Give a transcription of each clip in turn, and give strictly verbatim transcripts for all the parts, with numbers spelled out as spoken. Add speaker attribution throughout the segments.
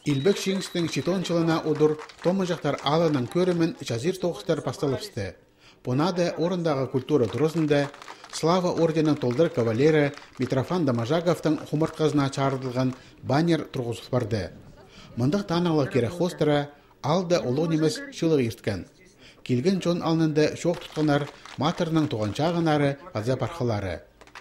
Speaker 1: Илбек Шингстың читон жылына удур томыжақтар алының көрімен жазир тоғыстар басталыпсты. Понады орындағы культура тұрысында Слава орденің толдыр кавалері Митрофан Дамажаговтың хумыртқазына чарылған баннер тұрғызып барды. Мындық танылы кере хостыра алды олу немес шылық ерткен. Келген жон алынында шоқ тұтқанар матырының туғанчағынары аза парқылары.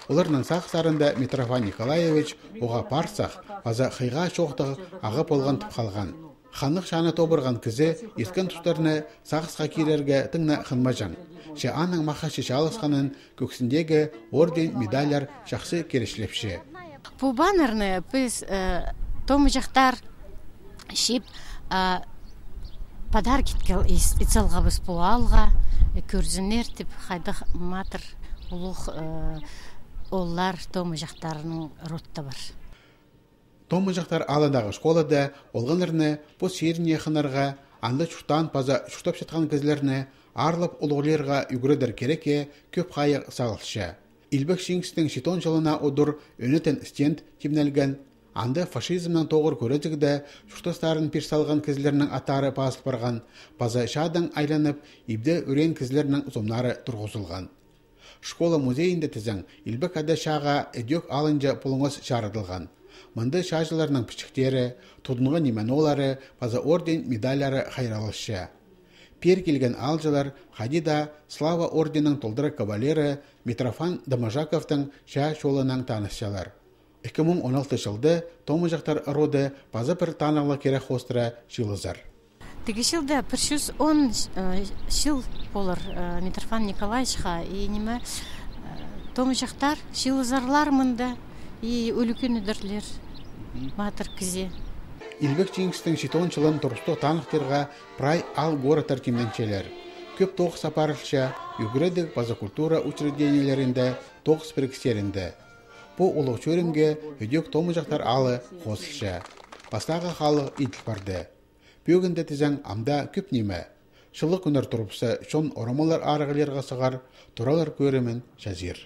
Speaker 1: Оларның сақсарында Митрофан Николаевич оға парсақ, аза қиға шоқтығы ағып олған тұп қалған. Ханық шаны тобырған кізі ескен тұстарыны сақсқа керерге тыңна қынмажан. Ше аның мақашы шалысқанын көксіндегі орден медалер шақсы керешлепші.
Speaker 2: Бұл баннерны біз томы жақтар шеп подарки ицалға біз бұл алға көрзінер тіп қайдық матыр ұлық олар томы жақтарының ротта бар.
Speaker 1: Томы жақтар алындағы школада олғанырны бұл шеріне қынарға анды чуқтан паза чуқтап жатқан кізлеріне арлып ұлғылерға үгірідір кереке көп қайық сағылшы. Илбек Шингстың шитон жылына ұдыр өнетен стенд кемнелген анды фашизмнің тоғыр көрезігді чуқтастарын персалған кізлерінің атары пасып барған паза шадың айланып ибді өрен кізлерінің зомнары тұрғызылған. Школа музейінде тізің Илбек ады шаға әдек алынжа пұлыңыз шарыдылған. Мынды шажыларының пішіктері, тұдынғы неменолары, паза орден медаляры қайралышы. Пер келген алжылар Хадида Слава орденің толдыры кавалері Митрофан Дамажаковтың ша шолының танысшалар. екі мың он алты жылды томы жақтар роды паза бір танылы керек хостыра жылызар.
Speaker 2: Теги жылда бір жүз он жыл болыр Митрофан Николаевичқа и неме томы жақтар жылызарлар мында и өлікен үдірлер матыр кізе.
Speaker 1: Илбек Шингстың шитон жылын тұрыстық танықтырға прай ал горотар кемденчелер. Көп тоғыз сапарылша үгіреді база культура учрежденияларында тоғыз бірікстерінде. Бұл ұлық чөрімге өдек томы жақтар алы қосылша. Бастағы қалы иділ барды. Бөгінді тізің амда көп неме. Шылық үнір тұрыпсы шон орамалар арығылерға сығар, тұралар көрімен жазир.